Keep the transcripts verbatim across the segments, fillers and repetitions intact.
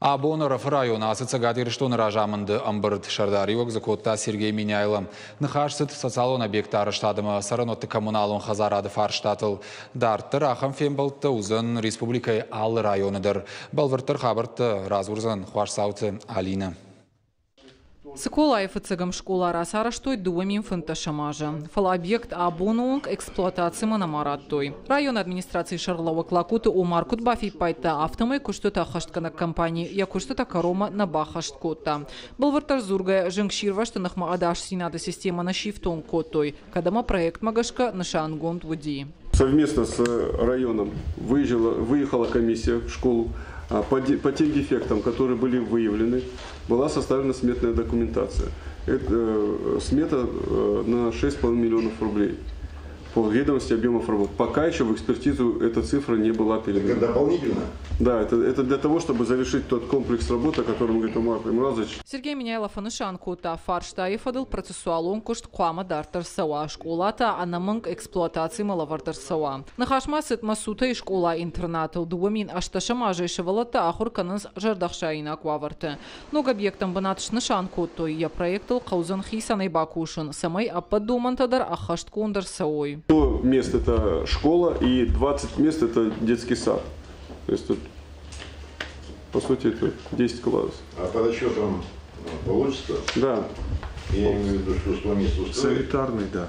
Абон Ӕрӕфы районы ацыд Цӕгат Ирыстоны разамынды ӕмбырд. Сӕрдариуӕг дзы кодта Сергей Меняйло. Ныхас цыд социалон объектты арӕзтад ӕмӕ цӕрӕнуӕтты коммуналон хӕдзарады фарстатыл. Дарддӕр ахӕм фембӕлдтӕ уыдзӕн республикӕйы алы районы дӕр. Бӕлвырддӕр хабӕрттӕ радзурдзӕн Хуасдзауты Алинӕ. Цыколайы фыццӕгӕм скъола рацарӕзтой дыууӕ мин фынддӕсӕм азы. Фӕлӕ объект абоны онг эксплуатацимӕ нӕма радтой. Районы администрацийы сӕргълӕууӕг Лакуты Омар куыд бафиппайдта, афтӕмӕй куыстытӕ ӕххӕстгӕнӕг компани йӕ куыстытӕ кӕронмӕ нӕ баххӕст кодта. Бӕлвырддӕр дзургӕйӕ, зынгсирвӕзты ныхмӕ ӕдасдзинады системӕ нӕ сифтонг кодтой, кӕд ӕмӕ проектмӕ гӕсгӕ нысангонд уыди. Совместно с районом выезжала, выехала комиссия в школу. По, по тем дефектам, которые были выявлены, была составлена сметная документация. Это, э, смета э, на шесть с половиной миллионов рублей по ведомости объемов работ. Пока еще в экспертизу эта цифра не была передана. Это дополнительно? Да, это, это для того, чтобы завершить тот комплекс работ, о котором говорит Омар Таймуразович. Сергей Меняйло фӕнысан кодта, фарстайы фӕдыл процессуалон куыст хъуамӕ дарддӕр цӕуа, скъола та ӕнӕмӕнг эксплуатацимӕ лӕвӕрд ӕрцӕуа. Ныхас ма цыд Мӕсутӕйы скъола-интернатыл. Дыууӕ мин ӕстдӕсӕм азӕй сывӕллӕттӕ ахуыр кӕнынц зӕрдӕхсаинаг уавӕрты. Ног объектӕн бынат снысан кодтой, йӕ проектыл хъӕудзӕн хицӕнӕй бакусын, цӕмӕй ӕппӕт домӕнтӕ дӕр ӕххӕстгонд ӕрцӕуой. сто мест это школа и двадцать мест это детский сад. То есть тут, по сути, это десять классов. А по расчетам получится? Да. Я имею в виду, что сто мест устроит. Санитарный, да.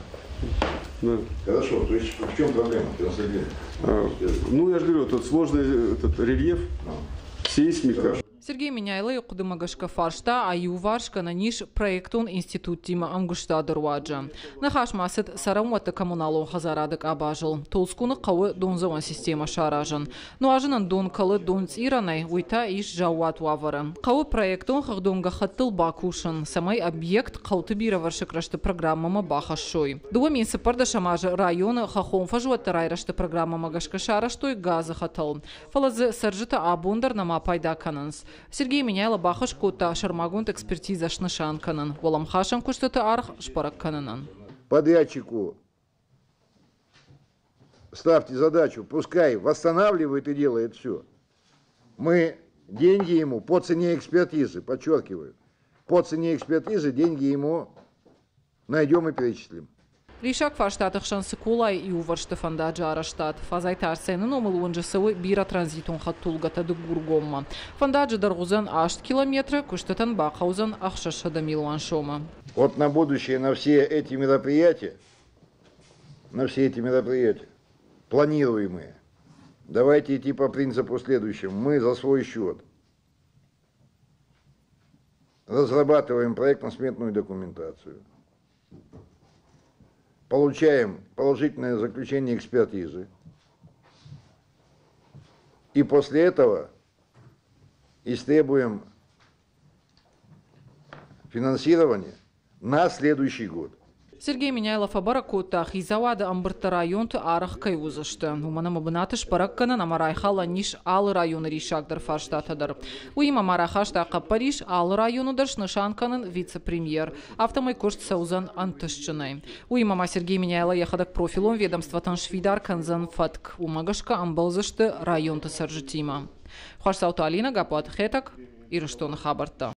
Да. Хорошо, то есть в чем проблема? А, ну, я же говорю, тут сложный этот рельеф, сейсмика. Сергей Меняйлойы хъуыдымӕ гӕсгӕ фарста аиуварс гӕнӕн ис проектон институттимӕ ӕмгуыстады руаджы. Ныхас ма цыд цӕрӕнуӕтты коммуналон хӕдзарады къабазыл. Толдзгуны хъӕуы дондзӕуӕн системӕ саразын. Нуазынӕн дон кӕлы донцъирӕнӕй, уый та ис заууат уавӕры. Хъӕуы проектон хыгъдон гӕххӕттыл бакусын, цӕмӕй объект хъӕуты бирӕвӕрсыг рӕзты программӕмӕ бахӕссой. Дыууӕ мин цыппӕрдӕсӕм азы районы хӕххон фӕзуӕтты райрӕзты программӕмӕ гӕсгӕ сарӕзтой газы хӕтӕл. Фӕлӕ дзы цӕрджытӕ абон дӕр нӕма пайда кӕнынц. Сергей Меняйло бахӕс кодта сӕрмагонд экспертизӕ снысан кӕнын, уӕлӕмхасӕн куыстыты аргъ сбӕрӕг кӕнынӕн. Подрядчику ставьте задачу, пускай восстанавливает и делает все. Мы деньги ему по цене экспертизы, подчеркиваю, по цене экспертизы деньги ему найдем и перечислим. Риссаг фарстаты хсӕн Цыколайы иувӕрсты фӕндаджы арӕзтад. Фадзайты Арсены номыл уынджы цӕуы бирӕ транзитон хӕдтулгӕтӕ Дыгургоммӕ. Фӕндаджы дӕргъ уыдзӕн аст километры, куыстытӕн бахъӕудзӕн ӕхсӕзсӕдӕ милуан сомы. Вот на будущее, на все эти мероприятия, на все эти мероприятия, планируемые, давайте идти по принципу следующему. Мы за свой счет разрабатываем проектно-сметную документацию, получаем положительное заключение экспертизы, и после этого истребуем финансирование на следующий год. Сергей Меняйло фӕбӕрӕг кодта, хицауады ӕмбырдты районты арӕх кӕй уыдзысты. Уымӕн ӕмӕ бынаты сбӕрӕг кӕнын ӕмӕ райхалӕн ис алы районы риссагдӕр фарстатӕ дӕр. Уыимӕ ма рахаста хъӕппӕрис алы районы дӕр снысан кӕнын вице-премьер. Афтӕмӕй куыст цӕудзӕн ӕнтыстджынӕй. Уыимӕ ма Сергей Меняйло йӕхӕдӕг профилон ведомствотӕн сфидар кӕндзӕн фӕтк. Уымӕ гӕсгӕ ӕмбӕлдзысты районты цӕрджытимӕ. Хуасдзауты Алинӕ, Гаппуаты Хетӕг, Ирыстоны хабӕрттӕ.